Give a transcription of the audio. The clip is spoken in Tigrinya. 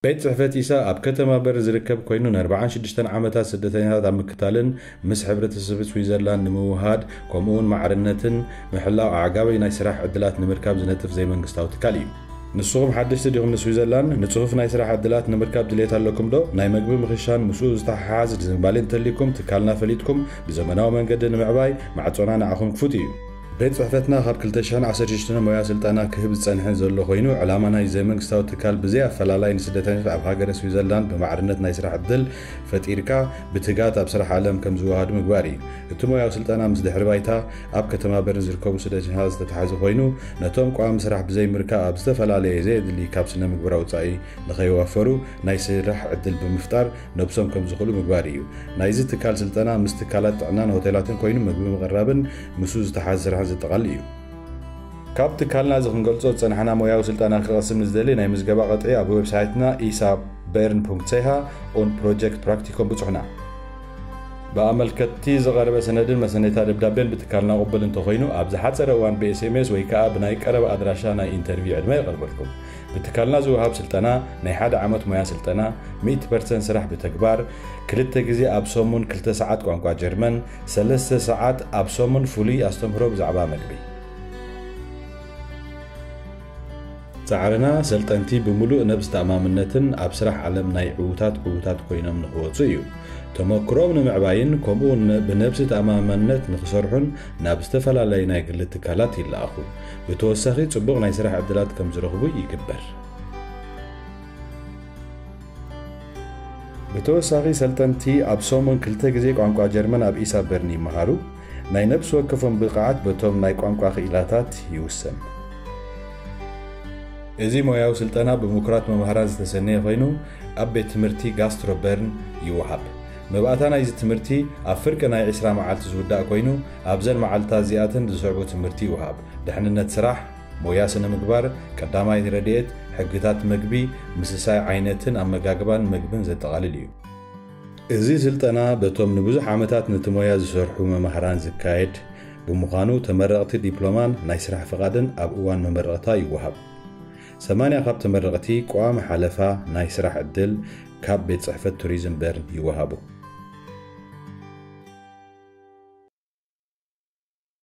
ቤት ጽሕፈት ኢሳ ኣብ ከተማ በርን ዝርከብ ኮይኑ፣ ን ኣርባዓን ሽዱሽተን ዓመታት ስደተኛታት ኣብ ምክታልን ምስ ሕብረተሰብ ስዊዘርላንድ ንምውሃድ፣ ከምኡውን ማዕርነትን ምሕላው ኣዕጋቢ ናይ ስራሕ ዕድላት ንምርካብ ዝነጥፍ ዘይመንግስታዊ ትካል እዩ። ንስኹም ሓደሽቲ ዲኹም ንስዊዘርላንድ? ንጽፉፍ ናይ ስራሕ ዕድላት ንምርካብ ድሌት ኣለኩም ዶ? ናይ መግቢ ምኽሻን ምስኡ ዝተሓሓዝ ዝንባሌ እንተልይኩም፣ ትካልና ፈሊጥኩም ብዘመናዊ መንገዲ ንምዕባይ ማዕጾና ንዓኹም ክፉት እዩ። ቤት ጽሕፈትና ካብ ክልተ ሽሕን ዓሰርተ ሽዱሽተን ሞያ ስልጠና ክህብ ዝጸንሐ ዘሎ ኮይኑ፣ ዕላማ ናይ ዘይመንግስታዊ ትካል ብዘይ ኣፈላላይ ንስደተኛታት ኣብ ሃገረ ስዊዘርላንድ ብማዕርነት ናይ ስራሕ ዕድል ፈጢርካ ብትጋት ኣብ ስራሕ ዓለም ከም ዝወሃዱ ምግባር እዩ። እቲ ሞያዊ ስልጠና ምስ ድሕሪ ባይታ ኣብ ከተማ በርን ዝርከቡ ስደተኛታት ዝተተሓዘ ኮይኑ፣ ነቶም ቋሚ ስራሕ ብዘይ ምርካብ ኣብ ዝተፈላለየ ዘየድሊ ካብ ስነ ምግባራዊ ወጻኢ ንኸይዋፈሩ ናይ ስራሕ ዕድል ብምፍጣር ነብሶም ከም ዝኽእሉ ምግባር እዩ። ናይዚ ትካል ስልጠና ምስ ትካላት ጥዕናን ሆቴላትን ኮይኑ ምግቢ ምቕራብን ምስኡ ዝተሓዘ ስራሕን ዘጠቓልል እዩ። ካብ ትካልና እዚ ክንገልጾ ዝጸናሕና ሞያዊ ስልጠና ክቐስም ንዝደሊ ናይ ምዝገባ ቅጥዒ ኣብ ዌብሳይትና ኢሳበርን ሲ ኤች ኦን ፕሮጀክት ፕራክቲኮም ብጹሕና። ብኣመልከትቲ ዝቐረበ ሰነድን መሰነይታ ደብዳቤን ብትካልና ቅቡል እንተኾይኑ፣ ኣብ ዝሓጸረ እዋን ብ ኤስ ኤም ኤስ ወይ ከኣ ብናይ ቀረባ ኣድራሻ ናይ ኢንተርቪው ዕድመ የቐርበልኩም። ብትካልና ዝወሃብ ስልጠና ናይ ሓደ ዓመት ሞያ ስልጠና፣ ሚእቲ ፐርሰንት ስራሕ ብተግባር፣ ክልተ ግዜ ኣብ ሰሙን ክልተ ሰዓት ቋንቋ ጀርመን፣ ሰለስተ ሰዓት ኣብ ሰሙን ፍሉይ ኣስተምህሮ ብዛዕባ መግቢ። ጻዕርና ሰልጠንቲ ብምሉእ ነብስ ተኣማምነትን ኣብ ስራሕ ዓለም ናይ ዕዉታት ዕዉታት ኮይኖም ንኽወጹ እዩ። ተመክሮም ንምዕባይን ከምኡ ን-፣ ብነብሲ ተኣማምነት ንኽሰርሑን ናብ ዝተፈላለዩ ናይ ግሊ ትካላት ይለኣኹ። ብተወሳኺ ጽቡቕ ናይ ስራሕ ዕድላት ከም ዝረኽቡ ይግበር። ብተወሳኺ ሰልጠንቲ ኣብ ሰሙን ክልተ ግዜ ቋንቋ ጀርመን ኣብ ኢሳበርን ይመሃሩ። ናይ ነብሲ ወከፎም ብቕዓት በቶም ናይ ቋንቋ ክኢላታት ይውሰን። እዚ ሞያዊ ስልጠና ብምኩራት መማህራን ዝተሰነየ ኮይኑ፣ ኣብ ቤት ትምህርቲ ጋስትሮ በርን ይወሃብ። መባእታ ናይዚ ትምህርቲ ኣብ ፍርቂ ናይ ዕስራ መዓልቲ ዝውዳእ ኮይኑ፣ ኣብዘን መዓልታት እዚኣተን ዝስዕቡ ትምህርቲ ይወሃብ። ድሕንነት ስራሕ፣ ሞያ ስነ ምግባር፣ ቀዳማይ ረድኤት፣ ሕግታት መግቢ፣ ምስሳይ ዓይነትን ኣመጋግባን መግብን ዘጠቓልል እዩ። እዚ ስልጠና በቶም ንብዙሕ ዓመታት ነቲ ሞያ ዝሰርሑ መማህራን ዝካየድ ብምዃኑ፣ ተመረቕቲ ዲፕሎማን ናይ ስራሕ ፍቓድን ኣብ እዋን መመረቕታ ይወሃብ። ሰማንያ ካብ ተመረቕቲ ቀዋሚ ሓለፋ ናይ ስራሕ ዕድል ካብ ቤት ጽሕፈት ቱሪዝም በርን ይወሃቡ።